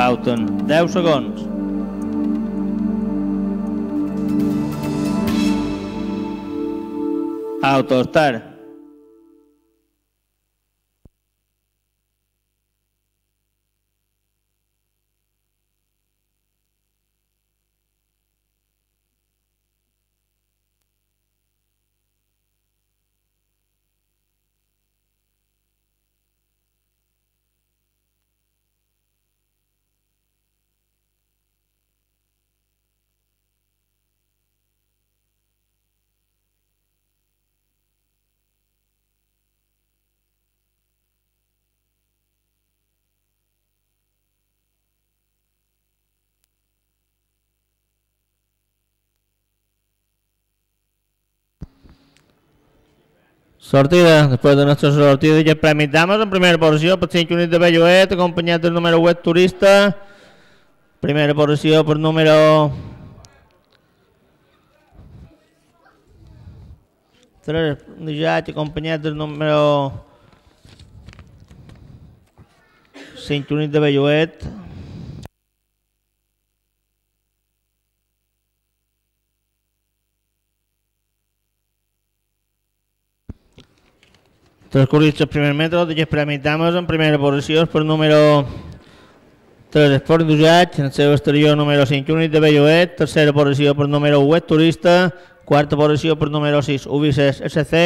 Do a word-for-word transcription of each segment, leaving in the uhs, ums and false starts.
falten deu segons. Autostar. Sortida, després de nuestra sortida de Premi Dames, en primera posició per cinc units de Belluet, acompanyat del número vuit Turista. Primera posició per número tres de Jaig, acompanyat del número cinc units de Belluet. Transcorrits els primers metres d'aquest Premi Dames, en primera posició per número tres Esport d'Usatge, en el seu exterior número cinc units de Belluet, tercera posició per número vuit Turista, quarta posició per número sis Ubices S C,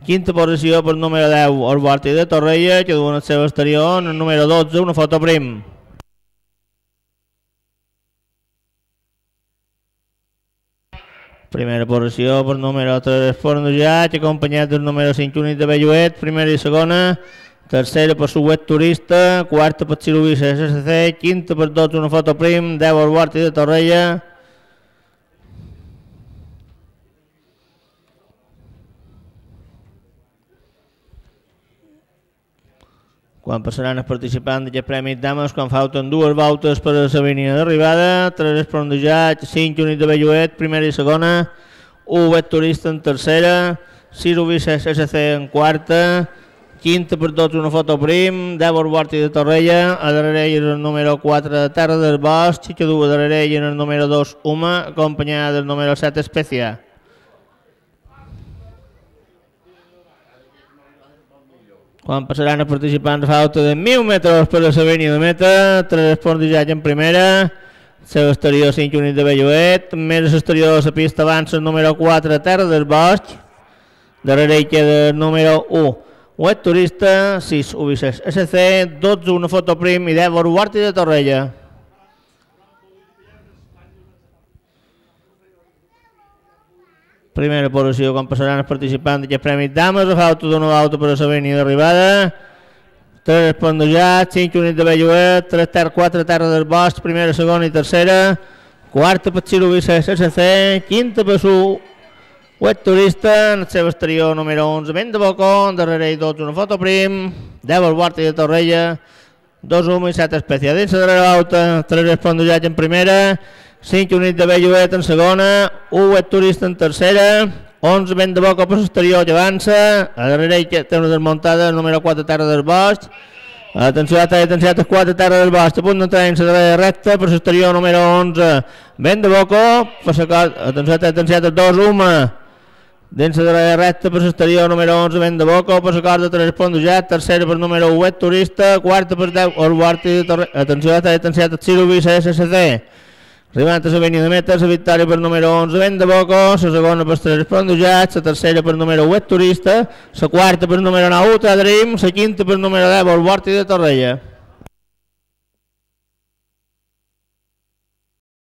quinta posició per número deu Orborti de Torrella, que duen el seu exterior en el número dotze una foto prim. Primera posició per número tres Esport d'Usatge, acompanyat del número cinc units de Belluet, primera i segona, tercera per Suet Turista, quarta per Ubices S C, quinta per dotze una foto prim, deu Orborti de Torrella. Quan passaran els participants d'aquest Premi Dames, quan falten dues voltes per a la línia d'arribada, tres Esport d'Usatge, cinc units de Belluet, primera i segona, u Wet Turista en tercera, sis Ubices S C en quarta, quinta per dotze una foto prim, deu Orborti de Torrella, a darrere ell el número quatre Terra del Bosc, que du a darrere ell el número dos Uma, acompanyada del número set Especia. Quan passaran els participants a falta de mil metres per a la línia de meta, tres Esport d'Usatge en primera, seu exterior cinc units de Belluet, més exterior de la pista avança el número quatre Terra del Bosc, darrere ell queda el número u Wet Turista, sis Ubices S C, dotze una foto prim i deu Orborti de Torrella. Primera posició quan passaran els participants d'aquest Premi Dames, a falta d'una volta per a la línia d'arribada. tres Esport d'Usatge, cinc units de Belluet, tres Terra, quatre Terra del Bosc, primera, segona i tercera. Quarta per Ubices S C, quinta per su Wet Turista, en el seu exterior número onze Vent de Bocó, darrere ell dotze una foto prim, deu Orborti de Torrella, dos Uma i set Especia. Dins la darrera volta, tres Esport d'Usatge en primera, cinc units de Belluet en segona, u Wet Turista en tercera, onze Vent de Boca per l'exterior que avança, a darrere ell té una desmuntada, el número quatre Terra del Bosc. Atenció, atenció, quatre Terra del Bosc, a punt d'entrar en la darrera recta, per l'exterior número onze Vent de Boca, atenció, atenció, dos Uma, dins la darrera recta per l'exterior número onze Vent de Boca, per la corda tres Esport d'Usatge, tercera per número u Wet Turista, quarta per deu Orborti de Torrella, atenció, atenció, sis Ubices S C. Arribant a la línia de meta, la victòria per número onze Vent de Boca, la segona per tres Esport d'Usatge, la tercera per número u Wet Turista, la quarta per número nou Ultra Dream, la quinta per número deu Orborti de Torrella.